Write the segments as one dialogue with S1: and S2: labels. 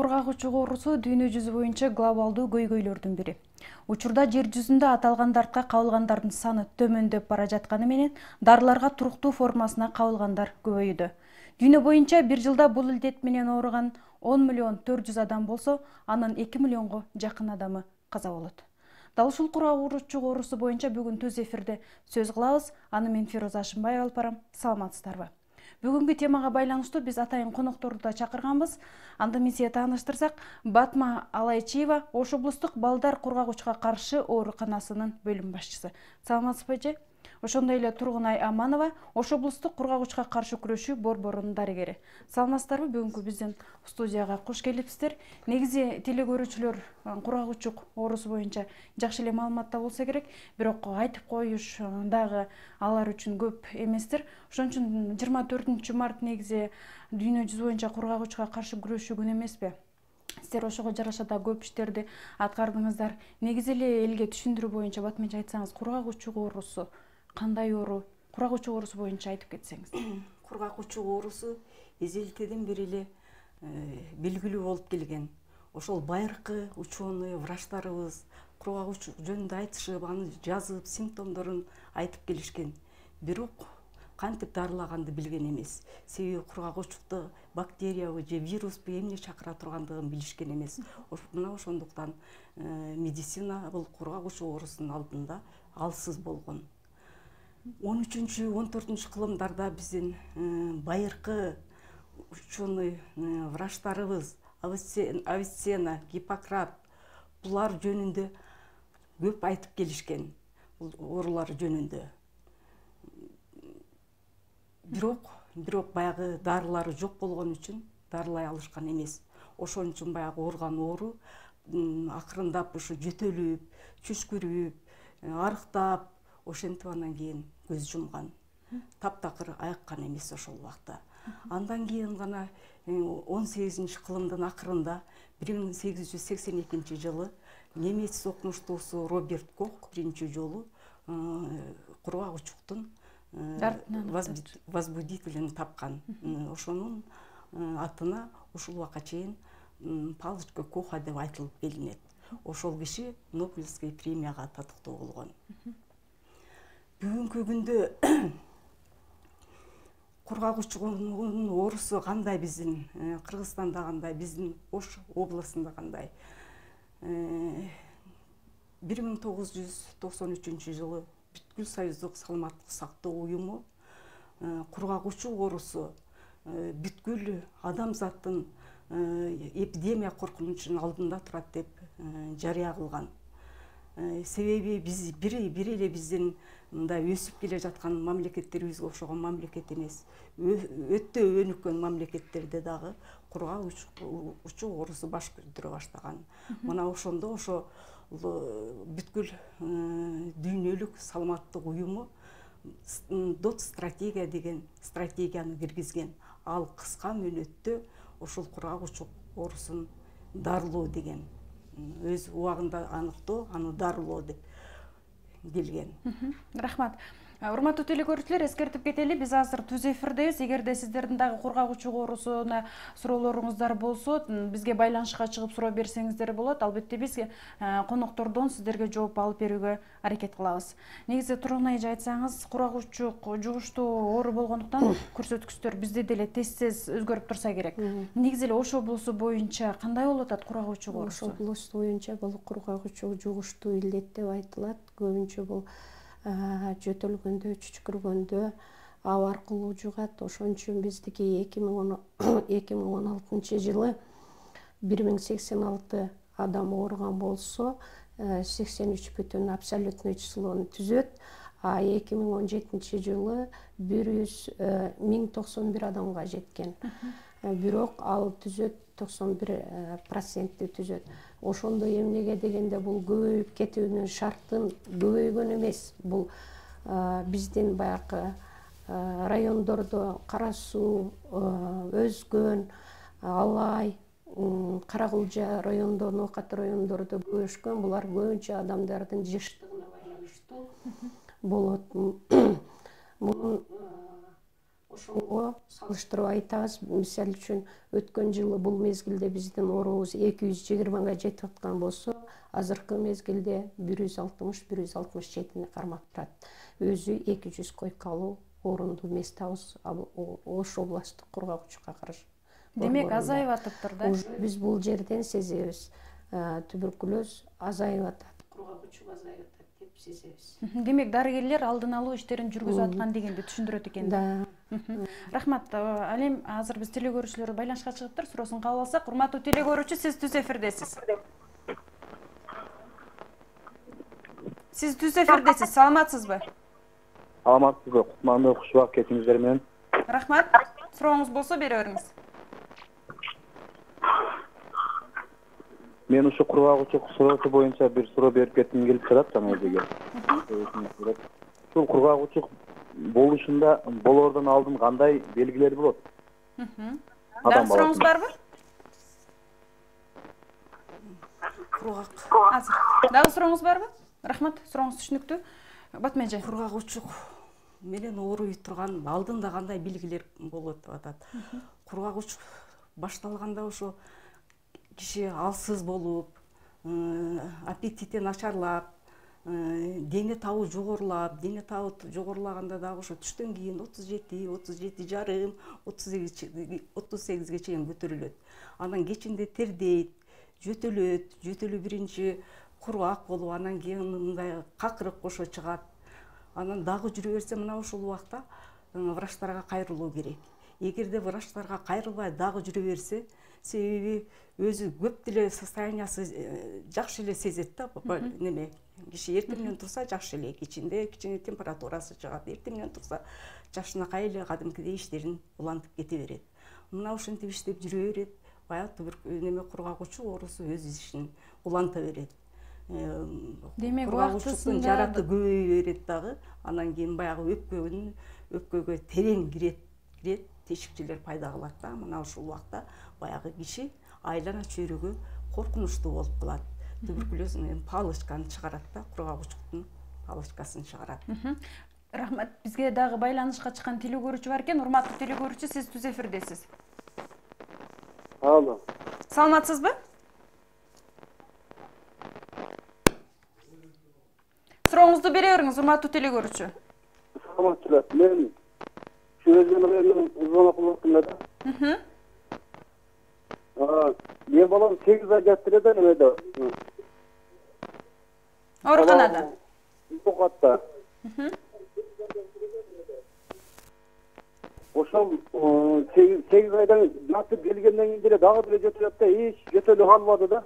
S1: Кургак учук оорусу дүйнө жүзү боюнча глобалдуу көйгөйлөрдүн бири. Учурда жер жүзүндө аталган дартка кабылгандардын саны төмөндөп бара жатканы менен дарыларга туруктуу формасына кабылгандар көбөйүүдө. Дүйнө боюнча бир жылда бул илдет менен ооруган 10 миллион 400 адам болсо, анын 2 миллионго жакын адамы каза болот. Дал ушул кургак учук оорусу боюнча бүгүн түз эфирде сөз кылабыз. Аны мен Фироза Ашымбаева алып барам. Саламатсыздарбы? Бүгүнкү темага байланыштуу биз атайын конокторду да чакырганбыз. Анда мен сизге тааныштырсак, Батма Алайчиева Ош облустук балдар кургак-учукка каршы ооруканасынын бөлүм башчысы. Саламатсызбы эже? Ошондой эле Тургунай Аманова Ош облустук кургак-учукка каршы күрөшүү борборунун дарыгери. Саламатсыздарбы? Бүгүнкү биздин студияга кош келипсиздер. Негизи теле көрүүчүлөр кургак-учук оорусу боюнча жакшы эле маалыматта болсо керек, бирок айтып коюш дагы алар үчүн көп эместир. Ошон үчүн 24 март негизи дүйнө жүзү боюнча кургак-учукка каршы күрөшүү күнү эмеспи? Сиздер ошого жараша да көп иштерди аткардыңыздар. Негизи эле элге түшүндүрүү боюнча батменче айтсаңыз, кургак-учук оорусу кандай оору? Кургак-учук оорусу боюнча айтып кетсеңиз.
S2: Кургак-учук оорусу эзелтеден бери эле белгилүү болуп келген. Ошол байыркы ученый врачтарыбыз кургак-учук жөнүндө айтышып, аны жазып, симптомдорун айтып келишкен. Бирок кантип дарылаганды билген эмес. Себеби кургак-учукты бактериябы же вируспу эмне чакыра тургандыгын билишкен эмес. Мына ошондуктан медицина бул кургак-учук оорусунун алдында алсыз болгон. 13-14 кылымдарда биздин байыркы ученый врачтарыбыз Авиценна, Гиппократ булар жөнүндө көп айтып келишкен, бул оорулар жөнүндө. Бирок баягы дарылары жок болгон үчүн дарылай алышкан эмес. Ошон үчүн баягы ооруган оору акырындап ушу жөтөлүп, чүчкүрүп, арыктап, ошентип андан кийин көз жумган. Таптакыр айыккан эмес ошол убакта. Андан кийин гана 18-кылымдын акырында 1882 жылы немец окумуштуусу Роберт Кох биринчи жолу кургак-учуктун возбудителин тапкан. Ошонун атына ушул убакка чейин палочка Коха деп айтылып келинет. Ошол киши Нобелевский премияга татыктуу болгон. Бүгүнкү күндө кургак-учугунун оорусу кандай биздин Кыргызстанда кандай, биздин Ош областында кандай? 1993 жылы Бүткүл Союздук саламаттык сактоо уюму кургак-учук оорусу бүткүл адамзаттын эпидемия коркунучунун алдында турат деп жарыя кылган. Себеби биз бир эле биздин мындай өсүп келе жаткан мамлекеттерибизге окшогон мамлекет эмес. Өтө өнүккөн мамлекеттерде дагы кургак-учук оорусу баш көтөрө баштаган. Мына ошондо ошо бүткүл дүйнөлүк саламаттык уюму дот стратегия деген стратегияны киргизген. Ал кыска мөөнөттө ошол кургак-учук оорусун дарылоо деген. Өз убагында аныктоо, аны дарылоо деп келген.
S1: Рахмат. Урматтуу теле көрүүчүлөр, эскертип кетели, биз азыр түз эфирдебиз. Эгерде сиздердин дагы кургак-учук оорусуна суроолоруңуздар болсо, бизге байланышка чыгып суроо берсеңиздер болот. Албетте биз коноктордон сиздерге жооп алып берүүгө аракет кылабыз. Негизи Тургунай эже айтсаңыз, кургак-учук жугуштуу оору болгондуктан көрсөткүчтөр бизде деле тез өзгөрүп турса керек. Негизи эле Ош облусу боюнча кандай болуп атат кургак-учук оорусу?
S3: Ош облусу боюнча бул кургак-учук жугуштуу илдет деп айтылат. Көбүнчө бул жөтөлгөндө, чүчкүргөндө аб аркылуу жугат. Ошон үчүн биздики 2016 жылы 1086 адам ооруган болсо, 83 бүтүн абсолютный числону түзөт. А 2017 жылы 1091 адамга жеткен. Бирок ал түзөт 91% түзөт. Ошондой эмнеге дегенде бул көбөйүп кетүүнүн шартын көбөйгөн эмес. Бул биздин баягы райондордо Кара Суу, Өзгөн, Алай, Каракулжа райондо, Ноокат райондордо көбөйүшкөн. Булар көбүнчө адамдардын жыштыгына байланыштуу болот. Мунун ошого салыштырып айтабыз. Мисалы үчүн өткөн жылы бул мезгилде биздин оорубуз 220га жетип аткан болсо, азыркы мезгилде 160-167 кармап турат. Өзү 200 койкалуу орунду мест табыз Ош областтык кургагычка каршы.
S1: Демек азайып атыптыр да.
S3: Биз бул жерден сезебиз. Туберкулез азайып атат, кургагычуу азайып атат деп сезебиз.
S1: Демек дарыгерлер алдын алуу иштерин жүргүзүп аткан дегенди түшүндүрөт экен.
S3: Да.
S1: Рахмат. Ал эми азыр биз теле көрүүчүлөр байланышка чыгыптыр. Суроосун кабыл алсак, урматтуу теле көрүүчү, сиз түз эфирдесиз. Сиз түз эфирдесиз. Саламатсызбы?
S4: Саламатсызбы? Кутмандуу кушубак кетиңиздер менен.
S1: Рахмат. Сурооңуз болсо бере бериңиз.
S4: Мен ушу кургагычуу суроосу боюнча бир суроо берип кетким келип турат жана өзүгө. Ушул кургагычуу болоордон алдын кандай белгилер болот?
S1: Дагы сурооңуз барбы?
S2: Кургак.
S1: Азыр. Дагы сурооңуз барбы? Рахмат. Сурооңуз түшүнүктүү. Батма эже.
S2: Кургагычуу менен ооруй турган алдында кандай белгилер болот деп атат. Кургагыч башталганда ошо киши алсыз болуп, аппетити начарлап, дене табы жогорулап, дене табы жогорулаганда дагы ошо түштөн кийин 37,5, 38ге чейин көтөрүлөт. Анан кечинде тердейт, жөтөлүү биринчи кургак болуп, анан кийин мындай какырык кошо чыгат. Анан дагы жүрө берсе, мына ушул убакта врачтарга кайрылуу керек. Эгерде врачтарга кайрылбай дагы жүрө берсе, себеби өзү көп деле состояниясы жакшы эле сезет да, неме. Киши эртең менен турса жакшы эле, кичине температурасы чыгат, эртең менен турса жакшынакай эле кадимкидей иштерин улантып кете берет. Мына ошентип иштеп жүрө берет, баягы неме кургагычуу оорусу өз ишин уланта берет.
S1: Демек
S2: кургагычтын жараты көбөйө берет дагы, анан кийин баягы өпкөгө терең кирет, тешикчелер пайда кылат да. Мына ушул убакта баягы киши айлана чөйрөгө коркунучтуу болуп калат. Туберкулез палочканы чыгарат да, кургагычтын палочкасын чыгарат.
S1: Рахмат. Бизге дагы байланышка чыккан теле көрүүчү бар экен. Урматтуу теле көрүүчү, сиз түз эфирдесиз.
S4: Алло.
S1: Саламатсызбы? Сурооңузду бере бериңиз, урматтуу теле көрүүчү.
S4: Саламатчылар. Мен чөйрөгөн звонок кылып атам да. Мен балам 8 ай жатыр эле немеде.
S1: Ооруканада.
S4: Токатта. Ошол 8 айдан жатып келгенден кийин деле дагы деле жөтөлөт да, эч жөтөлүп калбады да.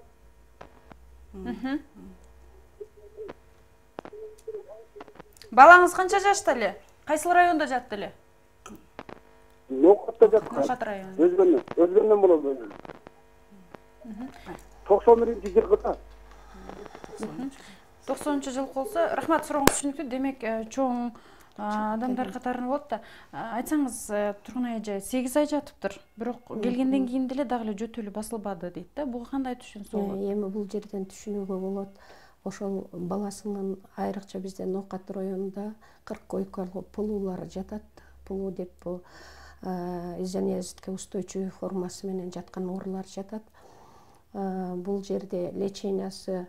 S1: Балаңыз канча жашта эле? Кайсыл районда жатты эле?
S4: Нокатта жатты.
S1: Нокат району.
S4: Өзгөндөн болот. 91-жылкы да.
S1: 90-жыл болсо, рахмат, сурооңуз түшүнүктүү. Демек, чоң адамдар катарында болот да. Айтсаңыз, Тургунай эже 8 ай жатыптыр, бирок келгенден кийин деле дагы эле жөтөлү басылбады дейт да. Буга кандай түшүнсө болот?
S3: Эми бул жерден түшүнүүгө болот. Ошол баласынын айрыкча бизде Нокат районунда 40 койкалуу пулуулар жатат. Пулуу деп бул изонезитке устойчивый формасы менен жаткан оорулар жатат. Бул жерде лечениясы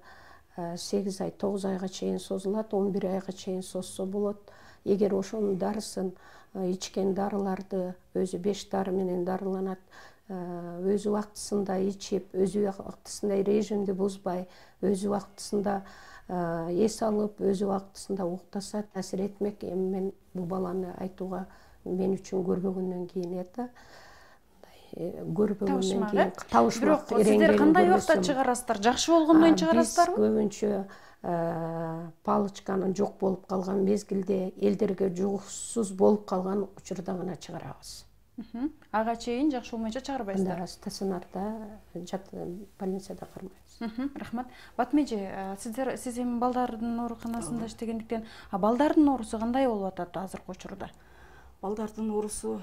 S3: 8 ай, 9 айга чейин созулат, 11 айга чейин созсо болот. Эгер ошонун дарысын ичкен дарыларды өзү 5 дары менен дарыланат, өзү убактысында ичип, өзү убактысында режимди бузбай, өзү убактысында эс алып, өзү убактысында уктаса таасир этмек. Эми мен бул баланы айтууга мен үчүн көрбөгөндөн кийин көрбөгөндөн кийин табышмак.
S1: Бирок сиздер кандай убакта чыгарасыздар? Жакшы болгондон кийин чыгарасыздарбы?
S3: Биз көбүнчө палочканын жок болуп калган мезгилде, элдерге жугуусуз болуп калган учурда гана чыгарабыз.
S1: Ага чейин жакшы болмойнчо чыгарбайсыздар.
S3: Стационарда, больницада кармайбыз.
S1: Рахмат. Батма эже, сиз эми балдардын ооруканасында иштегендиктен, балдардын оорусу кандай болуп атат азыркы учурда?
S2: Балдардын оорусу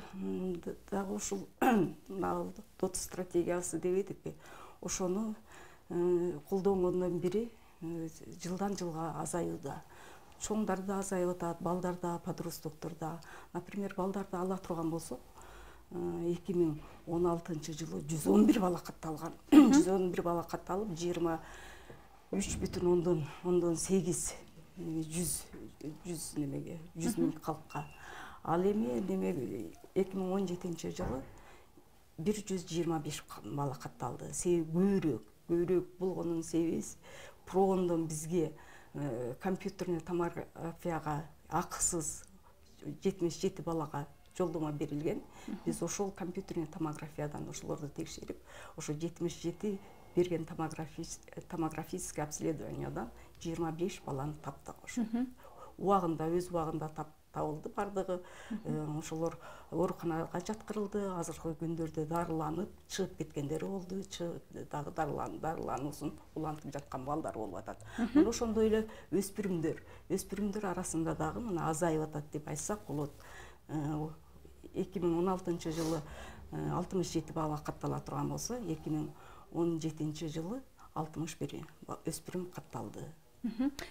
S2: дагы ушул ДОТ стратегиясы деп эдикпи, ошону колдонгондон бери жылдан жылга азаюуда. чоңдар да азайып атат, балдар да, подростоктор да. Например, балдарды ала турган болсок, 2016 жылы 111 бала катталган. 111 бала катталып, 23,8 100 миң калкка. Ал эми 2017 жылы 125 бала катталды. Себеби көбүрөөк болгонунун себеби проондон бизге компьютерный томографияга акысыз 77 балага жолдомо берилген. Биз ошол компьютерный томографиядан ошолорду текшерип, ошо 77 берген томографический обследованиядан 25 баланы таптык. Ошо убагында, өз убагында табылды бардыгы. Ошолор ооруканага жаткырылды. Азыркы күндөрдө дарыланып, чыгып кеткендери болду. Дагы дарылануусун улантып жаткан балдар болуп атат. Мына ошондой эле өспүрүмдөр арасында дагы мына азайып атат деп айтсак болот. 2016 жылы 67 бала каттала турган болсо, 2017 жылы 61 өспүрүм катталды.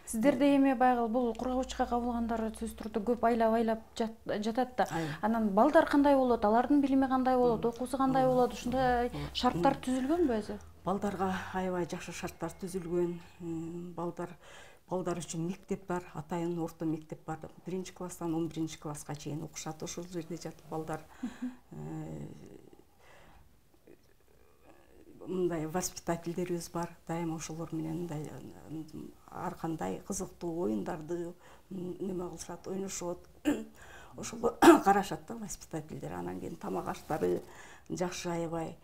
S1: Сиздерде эми байгы бул кургагучка кабылгандар сөзсүз турду көп айлап жатат да. Анан балдар кандай болот? Алардын билими кандай болот? Окуусу кандай болот? Ушундай шарттар түзүлгөнбү өзү?
S2: Балдарга аябай жакшы шарттар түзүлгөн. Балдар үчүн мектеп бар, атайын орто мектеп бар. 1-класстан 11-класска чейин окушат. Ошол жерде жатып балдар мындай воспитательдерибиз бар. Дайыма ошолор менен мындай ар кандай кызыктуу оюндарды неме кылышат, ойношот. Ошол карашат да воспитательдер. Анан кийин тамак аштары жакшы аябай.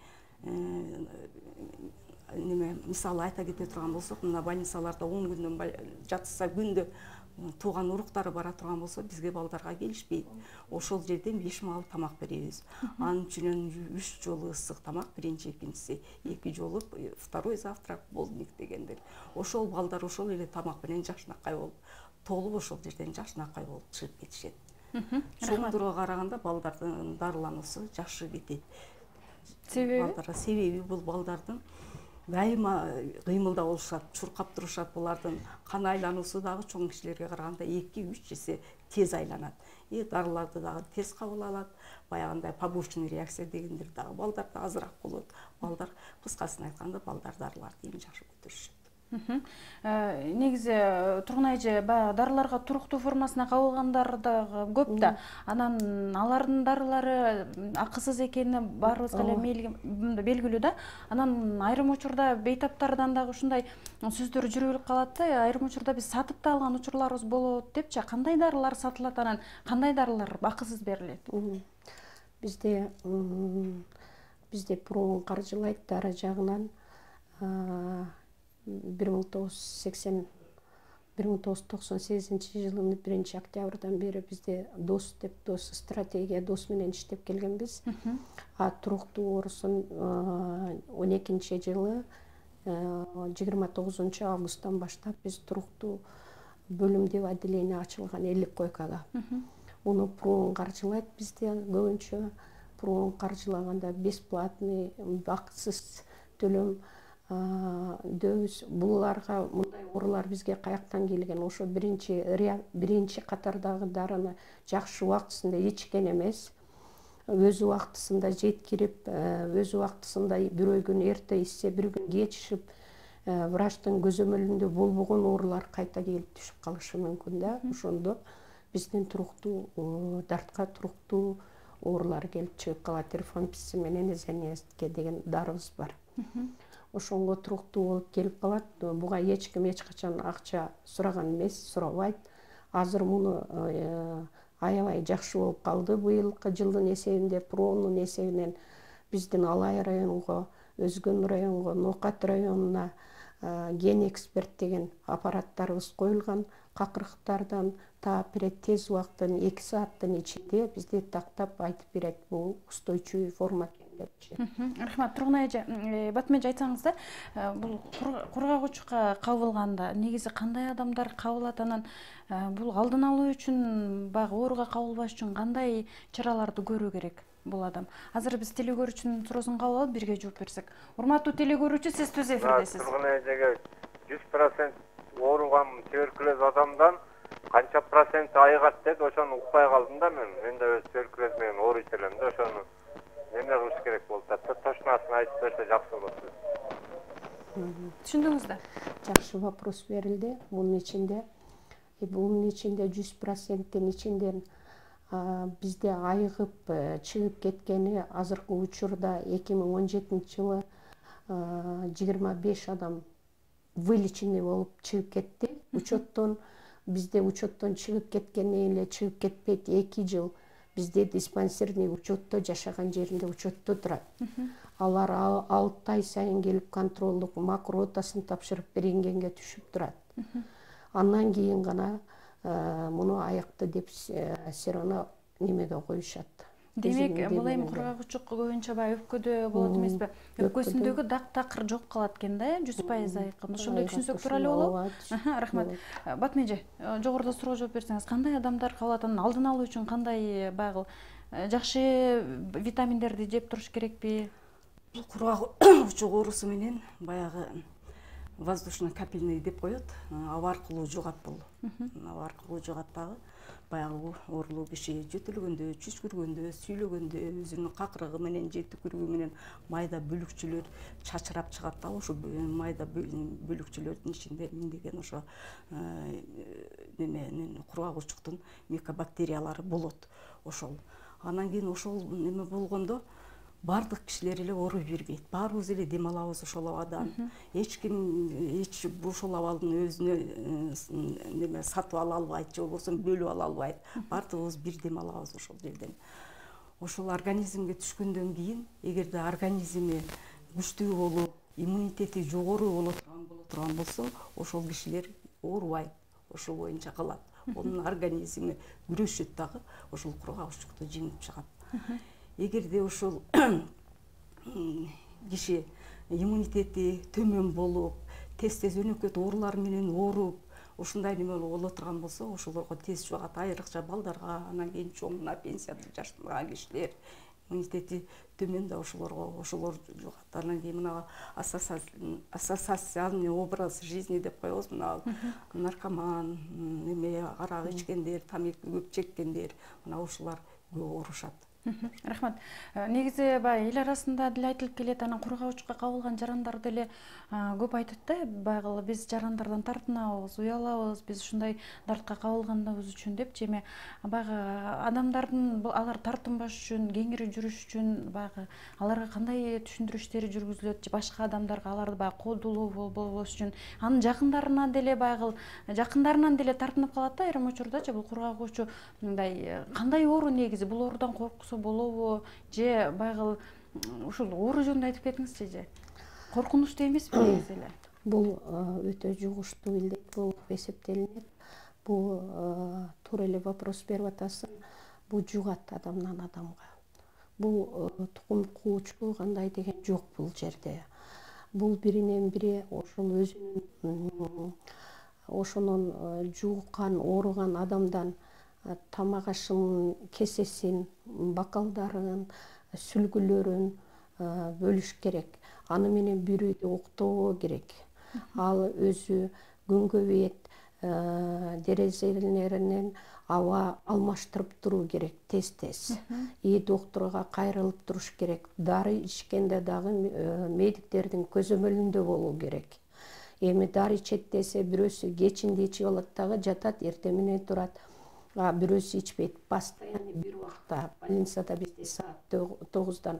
S2: Мисалы айта кете турган болсок, мына больницаларда 10 күндөн жатса күндө тууган уруктары бара турган болсо, бизге балдарга келишпейт. Ошол жерден 5 маал тамак беребиз. Анын үчүнөн 3 жолу ысык тамак, биринчи, экинчиси, 2 жолу второй завтрак, полдник дегендер. Ошол балдар ошол эле тамак менен жакшынакай болуп, толуп ошол жерден жакшынакай болуп чыгып кетишет. Чоңдорго караганда балдардын дарылануусу жакшы кетет. Себеби бул балдардын дайыма кыймылда болушат, чуркап турушат. Булардын кан айлануусу дагы чоң кишилерге караганда 2-3 эсе тез айланат. Дарыларды дагы тез кабыл алат. Баягындай побочный реакция дегендер дагы балдарда азыраак болот. Балдар, кыскасын айтканда, балдар дарыларды эми жакшы көтөрүшөт.
S1: Негизи Тургун эже баягы дарыларга туруктуу формасына кабылгандар да көп да. Анан алардын дарылары акысыз экени баарыбызга эле белгилүү да. Анан айрым учурда бейтаптардан дагы ушундай сөздөр жүрүп калат да. Айрым учурда биз сатып да алган учурларыбыз болот депчи. Кандай дарылар сатылат, анан кандай дарылар акысыз берилет?
S3: Бизде проон каржылайт дары жагынан 1998 жылдын 1 октябрдан бери бизде ДОС стратегия ДОС менен иштеп келгенбиз. Туруктуу оорусун 12 жылы 29 августтан баштап биз туруктуу бөлүм деп отделение ачылган 50 койкага. Уну проон каржылайт бизде көбүнчө. Проон каржылаганда бесплатный, акысыз төлөм дөбүз. Буларга мындай оорулар бизге каяктан келген? Ошо биринчи катардагы дарыны жакшы убактысында ичкен эмес. Өз убактысында жеткирип, өз убактысында бирөө күн эрте ичсе, бир күн кеч ичип, врачтын көзөмөлүндө болбогон оорулар кайта келип түшүп калышы мүмкүн да. Ошондо биздин туруктуу дартка туруктуу оорулар келип чыгып калат. Рифампицин менен эзенестке деген дарыбыз бар. Ошонго туруктуу болуп келип калат. Буга эч ким эч качан акча сураган эмес, сурабайт. Азыр муну аябай жакшы болуп калды. Быйылкы жылдын эсебинде проонун эсебинен биздин Алай районунга, Өзгөн районунга, Ноокат районуна ген эксперт деген аппараттарыбыз коюлган. Какырыктардан таап берет, тез убакыттын 2 сааттын ичинде бизди тактап айтып берет, бул устойчивый форма депчи.
S1: Рахмат. Тургун эже, Батым эже айтсаңыз да, бул кургагучка кабылганда негизи кандай адамдар кабылат, анан бул алдын алуу үчүн, баягы ооруга кабылбаш үчүн кандай чараларды көрүү керек бул адам? Азыр биз телекөрүүчүнүн суроосун кабыл алып бирге жооп берсек. Урматтуу телекөрүүчү, сиз түз эфирдесиз.
S5: Тургун эжеге 100% ооруган туберкулез адамдан канча процент айыгат деди, ошону укпай калдым да мен да өз өлкөм менен ооруйт элем да, ошону эмне кылыш керек болуп атат? Точносын айтып берсе жакшы болот.
S1: Түшүндүңүз да?
S3: Жакшы вопрос берилди. Бунун ичинде 100%-тин ичинден бизде айыгып чыгып кеткени азыркы учурда 2017-жылы 25 адам вылеченный болуп чыгып кетти. Учеттон бизде учеттон чыгып кеткени эле чыгып кетпейт, 2 жыл бизде диспансерный учетто жашаган жеринде учетто турат. Алар 6 ай сайын келип контролдук макротасын тапшырып рентгенге түшүп турат. Андан кийин гана муну аякты деп серано немеге коюшат.
S1: Демек, бул эми кургагычтык көбүнчө баягы өпкөдө болот эмеспи? Өпкөсүндөгү дак-такыр жок калат экен да, 100% айыккан. Ошондой түшүнсөк тууралуу болобу? Рахмат. Батым эже, жогоруда суроо жооп берсеңиз, кандай адамдар кабыл алат? Анын алдын алуу үчүн кандай баягы жакшы витаминдерди жеп туруш керекпи?
S2: Бул кургагычтык оорусу менен баягы воздушно-капельный деп коет, аба аркылуу жугат бул. Аба аркылуу жугат дагы. Баягы оорулуу киши жөтөлгөндө, чүчкүргөндө, сүйлөгөндө өзүнүн какырыгы менен же түкүрүгү менен майда бөлүкчөлөр чачырап чыгат да, ошо майда бөлүкчөлөрдүн ичинде миңдеген ошо кургагычтыктын микобактериялары болот. Ошол. Анан кийин ошол неме болгондо бардык кишилер эле ооруй бербейт. Баарыбыз эле дем алабыз ошол абадан. Эч ошол абалдын өзүнө неме сатып ала албайт, же болбосо бөлүп ала албайт. Бардыгыбыз бир дем алабыз ошол жерден. Ошол организмге түшкөндөн кийин, эгерде организми күчтүү болуп, иммунитети жогору боло турган болсо, ошол кишилер оорубайт, ошол боюнча калат. Онун организми күрөшөт дагы, ошол кургагычтыкты жеңип чыгат. Эгерде ошол киши иммунитети төмөн болуп, тез өнөкөт оорулар менен ооруп, ушундай неме боло турган болсо, ошолорго тез жугат, айрыкча балдарга, анан кийин чоңуна, пенсияда жаштаган кишилер иммунитети төмөн да ошолор жугат. Анан кийин мына ассоциальный образ жизни деп коебуз, мына наркоман, арак ичкендер, тамеки көп чеккендер, мына ушулар көп оорушат.
S1: Рахмат. Негизи баягы эл арасында деле айтылып келет, анан кургагычка кабылган жарандар деле көп айтат да, баягы биз жарандардан тартынабыз, уялабыз, биз ушундай дартка кабылганыбыз үчүн депчи. Эми баягы адамдардын алар тартынбаш үчүн, кеңири жүрүш үчүн баягы аларга кандай түшүндүрүү иштери жүргүзүлөт, же башка адамдарга аларды баягы кодулуу болбош үчүн, анын жакындарынан деле тартынып калат да айрым учурдачы бул кургагычуу мындай кандай оору негизи, бул оорудан корксо болобу, же баягы ушул оору жөнүндө айтып кетиңизчи же. Коркунучтуу эмеспи негизи эле?
S3: Бул өтө жугуштуу илдет болуп эсептелинет. Бул туура эле вопрос берип атасың. Бул жугат адамдан адамга. Бул тукум куучу кандай деген жок бул жерде. Бул биринен бири ошол өзүнүн ошонун жуган, ооруган адамдан тамак ашынын кесесин, бакалдарын, сүлгүлөрүн бөлүш керек. Аны менен бирөөдө уктоо керек. Ал өзү күнгө бет дерезелеринен аба алмаштырып туруу керек тез-тез. Доктурга кайрылып туруш керек. Дары ичкенде дагы медиктердин көзөмөлүндө болуу керек. Эми дары ичет десе бирөөсү кечинде ичип алат дагы жатат, эртең менен турат. Бирөөсү ичпейт. Постоянно бир убакта больницада бизде саат 9-дан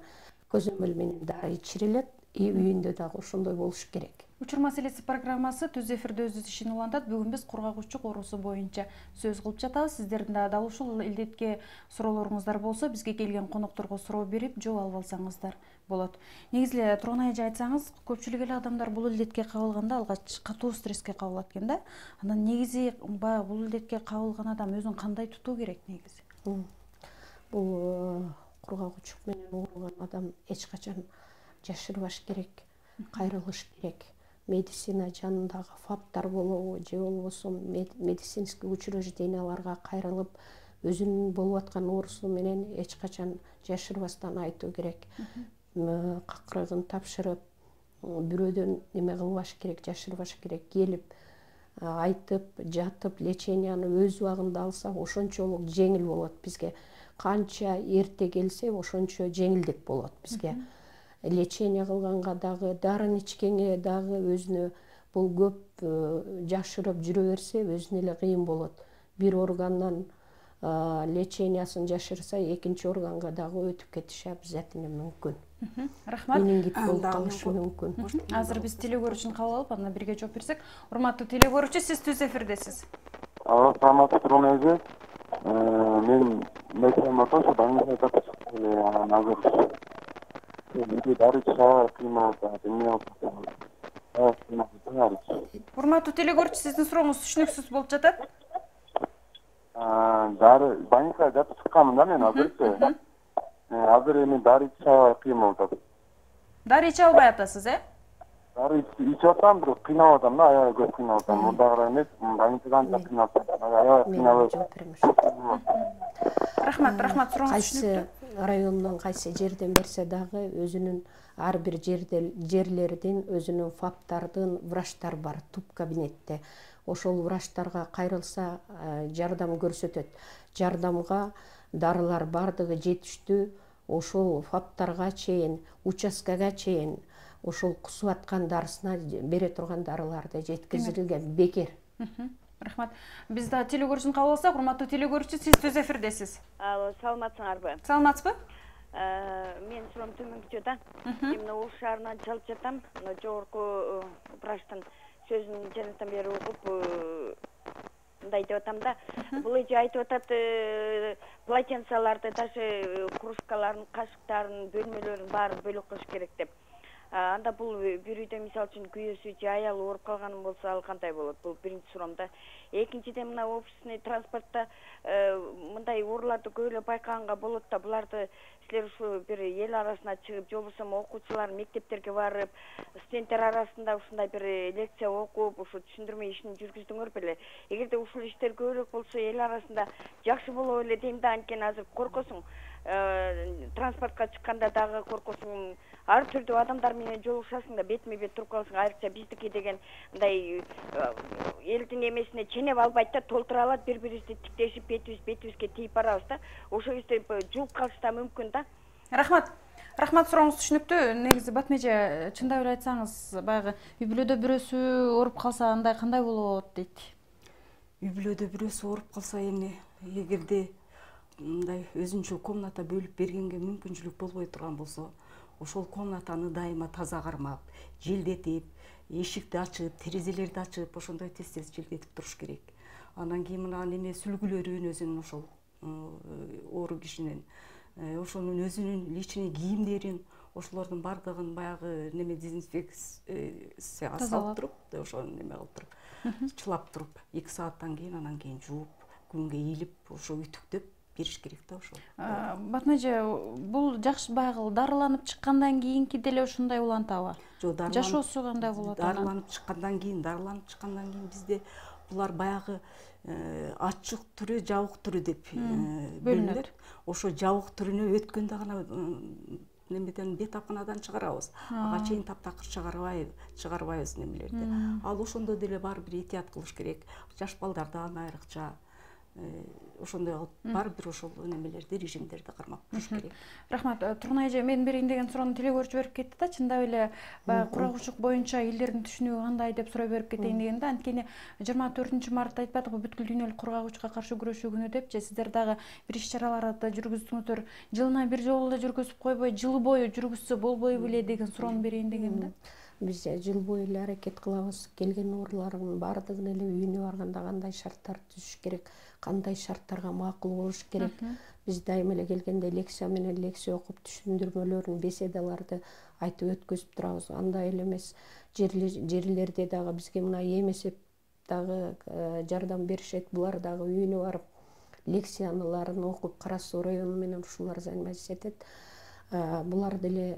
S3: көзөмөл менен дары ичирилет. Үйүндө дагы ошондой болуш керек.
S1: Учур маселеси программасы түз эфирде өз ишин улантат. Бүгүн биз кургагычтык оорусу боюнча сөз кылып жатабыз. Сиздердин да дал ушул илдетке суроолоруңуздар болсо, бизге келген конокторго суроо берип, жооп алып алсаңыздар болот. Негизи эле Турган эже айтсаңыз, көпчүлүк эле адамдар бул илдетке кабылганда алгач катуу стресске кабылат экен да. Анан негизи бул илдетке кабылган адам өзүн кандай тутуу керек негизи?
S3: Бул кургагычтык менен ооруган адам эч качан жашырбаш керек, кайрылыш керек. Медицина жанындагы фаптар болобу, же болбосо медицинский учрежденияларга кайрылып, өзүнүн болуп аткан оорусу менен эч качан жашырбастан айтуу керек. Какырыгын тапшырып, бирөөдөн неме кылбаш керек, жашырбаш керек. Келип айтып жатып леченияны өз убагында алсак ошончолук жеңил болот бизге. Канча эрте келсе ошончо жеңилдик болот бизге. Лечение кылганга дагы, дарын ичкенге дагы өзүнө бул көп жашырып жүрө берсе өзүнө эле кыйын болот. Бир органдан лечениясын жашырса, экинчи органга дагы өтүп кетиши обязательно мүмкүн.
S1: Рахмат.
S3: Менингит болуп калышы мүмкүн.
S1: Азыр биз теле көрүүчүнү кабыл алып, андан бирге жооп берсек. Урматтуу теле көрүүчү, сиз түз эфирдесиз.
S6: Саламатсызбы эже. Мен мектептен ошо больницада жатып анан азыр дары ичүү кыймыл
S1: Урматтуу теле көрүүчү, сиздин сурооңуз түшүнүксүз болуп жатат.
S6: Дары больницада жатып чыкканмын да мен азырчы. Азыр эми дары ичүү кыймыл атат.
S1: Дары иче албай атасыз,
S6: Дары ичип атам, бирок кыйналып атам да, аябай көп кыйналып атам. Мурдагыдай эмес, больницадан да кыйналып атам. Аябай кыйналып.
S1: Рахмат, сурооңуз
S3: Кайсы
S1: түшүнүктүү.
S3: райондон кайсы жерден берсе дагы өзүнүн ар бир жерлердин өзүнүн фаптардын врачтар бар туп кабинетте. Ошол врачтарга кайрылса жардам көрсөтөт. Жардамга дарылар бардыгы жетиштүү. Ошол фаптарга чейин, участкага чейин ошол кусуп аткан дарысына бере турган дарыларды жеткизилген бекер.
S1: Рахмат. Биз да теле көрүүчүнү кабыл алсак, урматтуу теле көрүүчү, сиз түз эфирдесиз.
S7: Саламатсыңарбы?
S1: Саламатсызбы?
S7: Мен суроом төмөнкүчө да. Мен Ош шаарынан чалып жатам. Жогорку врачтын сөзүн жанатан бери угуп мындай деп атам да. Бул эже айтып атат, полотенцаларды, даже кружкаларын, кашыктарын, бөлмөлөрүн баарын бөлөк кылыш керек деп. Анда бул бир үйдө мисалы үчүн күйөөсү же аялы ооруп калган болсо ал кандай болот? Бул биринчи суроом да. Экинчиден мына общественный транспортто мындай ооруларды көбүрөөк байкаганга болот да. Буларды силер ушу бир эл арасына чыгып, же болбосо окуучулар мектептерге барып, студенттер арасында ушундай бир лекция окуп, ушу түшүндүрмө ишин жүргүздүңөр беле. Эгерде ушул иштер көбүрөөк болсо эл арасында жакшы болот эле дейм да. Анткени азыр коркосуң, транспортко чыкканда дагы коркосуң, ар түрдүү адамдар менен жолугушасың да, бетме бет туруп каласың. Айрыкча биздики деген мындай элдин эмесине ченеп албайт да, толтура алат, бири-бирибизди тиктешип, бетибизге тийип барабыз да. Ошол кезде жулуп калыш да мүмкүн да.
S1: Рахмат, сурооңуз түшүнүктүү. Негизи Батмеже, чындап эле айтсаңыз, баягы үй бүлөдө бирөөсү ооруп калса андай кандай болот дейт.
S2: Үй бүлөдө бирөөсү ооруп калса, эми эгерде мындай өзүнчө комната бөлүп бергенге мүмкүнчүлүк болбой турган болсо, ошол комнатаны дайыма таза кармап, желдетип, эшикти ачып, терезелерди ачып, ошондой тез-тез желдетип туруш керек. Андан кийин мына неме сүлгүлөрүн өзүнүн ошол оору кишинин, ошонун өзүнүн личный кийимдерин, ошолордун бардыгын баягы неме дезинфекция салып туруп, ошону неме кылып туруп, чылап туруп, 2 сааттан кийин анан кийин жууп, күнгө ийилип, ошо үтүктөп бериш керек да ошол.
S1: Батмеже, бул жакшы баягы дарыланып чыккандан кийинки деле ушундай улантабы?
S2: Жок,
S1: жашоосу кандай болот?
S2: Дарыланып чыккандан кийин бизде булар баягы ачык түрү, жабык түрү деп бөлүнөт. Ошо жабык түрүнө өткөндө гана немеден бетапканадан чыгарабыз. Ага чейин таптакыр чыгарбайбыз немелерди. Ал ошондо деле баары бир этият кылыш керек. Жаш балдардан айрыкча ошондой кылып баары бир ошол немелерди, режимдерди кармап туруш керек.
S1: Рахмат. Турнай эже, мен берейин деген суроону теле көрүүчү берип кетти да. Чындап эле баягы курагучулук боюнча элдердин түшүнүгү кандай деп суроо берип кетейин деген да. Анткени 24-мартта айтпадыкпы, бүткүл дүйнөлүк кургагучулукка каршы күрөшүү күнү деп, же сиздер дагы бир иш-чараларды жүргүздүңүздөр. Жылына бир жолу эле жүргүзүп койбой, жыл бою жүргүзсө болбой беле деген суроону берейин деген да.
S3: Биз жыл бою эле аракет кылабыз. Келген оорулардын баардыгын эле үйүнө барганда кандай шарттар түзүш керек, кандай шарттарга макул болуш керек. Биз дайыма эле келгенде лекция менен лекция окуп, түшүндүрмөлөрүн, беседаларды айтып өткөзүп турабыз. Андай эле эмес, жерлерде дагы бизге мына эмесеп дагы жардам беришет. Булар дагы үйүнө барып лекцияларын окуп, Кара Суу району менен ушулар заниматься этет. Булар деле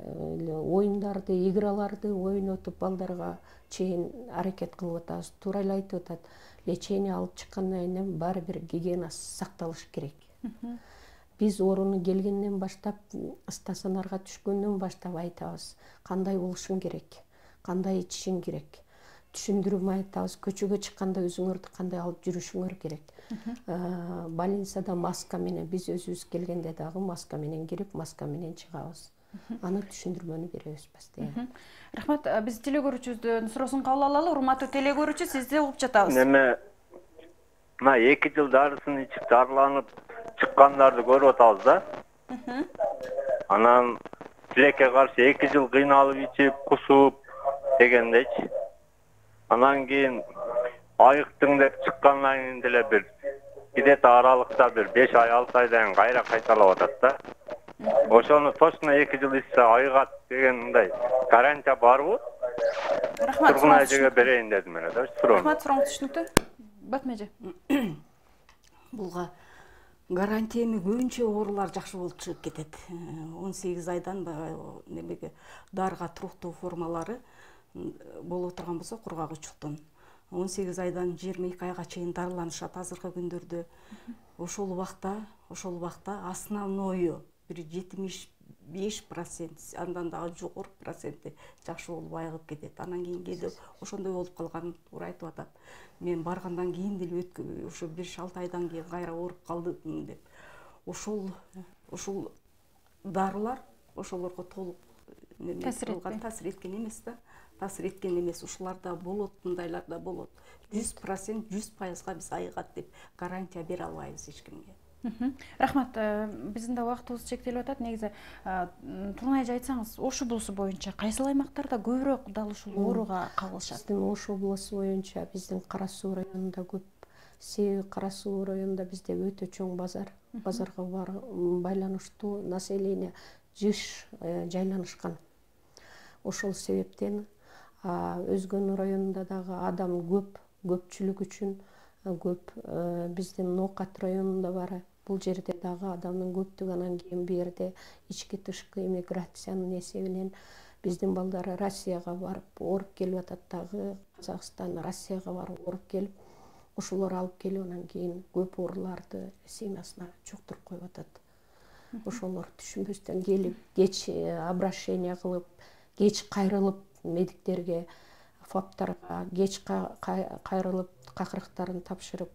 S3: оюндарды, играларды ойнотуп балдарга чейин аракет кылып атабыз. Туура эле айтып атат. Лечение алып чыккандан кийин баары бир гигиена сакталыш керек. Биз ооруну келгенден баштап, стационарга түшкөндөн баштап айтабыз, кандай болушуң керек, кандай ичишиң керек. түшүндүрүп айтабыз, көчөгө чыкканда өзүңөрдү кандай алып жүрүшүңөр керек. Больницада маска менен, биз өзүбүз келгенде дагы маска менен кирип, маска менен чыгабыз. Аны түшүндүрмөнү беребиз постоянно.
S1: Рахмат, биз телекөрүүчүбүздүн суроосун кабыл алалы. Урматтуу телекөрүүчү, сизди угуп жатабыз.
S5: Мына 2 жыл дарысын ичип дарыланып чыккандарды көрүп атабыз да. Анан тилекке каршы 2 жыл кыйналып ичип, кусуп дегендейчи. Анан кийин айыктың деп чыккандан кийин деле бир где-то аралыкта бир 5 ай 6 айдан кайра кайталап атат да. Ошону точно 2 жыл ичсе айыгат деген мындай гарантия барбы?
S1: Рахмат.
S5: Тургун эжеге берейин дедим эле да.
S1: Рахмат, сурооңуз түшүнүктүү. Батма эже.
S2: Булга гарантия эми көбүнчө оорулар жакшы болуп чыгып кетет. 18 айдан немеге дарыга туруктуу формалары болуп турган болсо кургак учуктун 18 айдан 22 айга чейин дарыланышат азыркы күндөрдө. Ошол убакта основною бир 75%, андан дагы жогору проценти жакшы болуп айыгып кетет. Анан кийин кээде ошондой болуп калганын туура айтып атат. Мен баргандан кийин деле ошо 5-6 айдан кийин кайра ооруп калдым деп. Ошол дарылар ошолорго толук таасир эткен эмес да. Таасир эткен эмес. Ушуларда болот, мындайларда болот. 100%, 100%га биз айыгат деп гарантия бере албайбыз эч кимге.
S1: Рахмат, биздин да убактыбыз чектелип атат. Негизи Тургун эже айтсаңыз, Ош облусу боюнча кайсыл аймактарда көбүрөөк дал ушул ооруга кабылышат?
S3: Биздин Ош облусу боюнча биздин Кара Суу районунда көп. Себеби Кара Суу районунда бизде өтө чоң базар. Базарга байланыштуу население жыш жайланышкан. Ошол себептен өзгөнүн районунда дагы адам көпчүлүк үчүн көп. Биздин Ноокат районунда бар. Бул жерде дагы адамдын көптүгү, анан кийин бу жерде ички тышкы эмиграциянын эсебинен биздин балдар Россияга барып ооруп келип атат дагы. Казакстан, Россияга барып ооруп келип, ошолор алып келип анан кийин көп ооруларды семьясына жуктуруп коюп атат. Ошолор түшүнбөстөн келип, кеч обращение кылып, кеч кайрылып медиктерге, ФАПтарга кеч кайрылып какырыктарын тапшырып,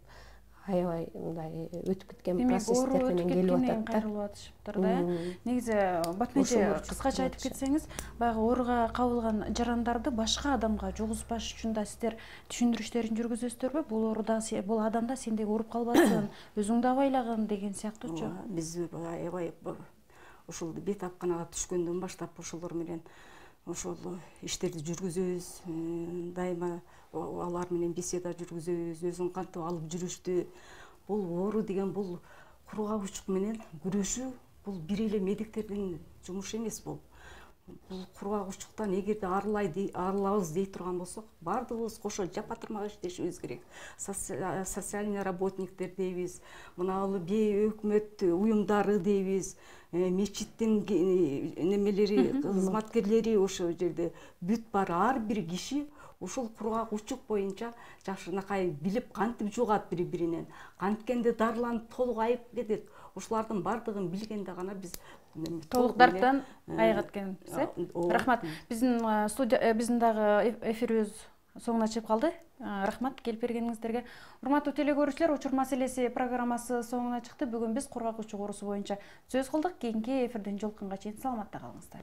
S3: аябай мындай өтүп кеткен процесстер менен келип атат.
S1: Кайрылып атышыптыр да. Негизи Батма эже, кыскача айтып кетсеңиз, баягы ооруга кабылган жарандарды башка адамга жугузбаш үчүн да сиздер түшүндүрүштөрүн жүргүзөсүздөр бул ооруда бул адамда сендей ооруп калбасын, өзүң да абайлагын деген сыяктуучу.
S2: Биз аябай ушул бетапканага түшкөндөн баштап ошолор менен ошол иштерди жүргүзөбүз. Дайыма алар менен беседа жүргүзөбүз, өзүн кантип алып жүрүштү. Бул оору деген бул кургак менен күрөшүү, бул бир эле медиктердин жумушу эмес бул. Бул кургак учуктан эгерде арылабыз дей турган болсок, баардыгыбыз кошо жапа-тырмак иштешибиз керек. Социальный работниктер дейбиз, мына өкмөт уюмдары дейбиз, мечиттин немелери, кызматкерлери ошол жерде бүт бар. Ар бир киши ушул кургак учук боюнча жакшынакай билип кантип жугат бири-биринен, канткенде дарыланып толук айып кетет. Ушулардын баардыгын билгенде гана биз
S1: толук дарттан айыгат экенбиз. Рахмат. Биздин дагы эфирибиз соңуна чыгып калды. Рахмат келип бергениңиздерге. Урматтуу телекөрүүчүлөр, Учур маселеси программасы соңуна чыкты. Бүгүн биз кургак учук оорусу боюнча сөз кылдык. Кийинки эфирден жолукканга чейин саламатта калыңыздар.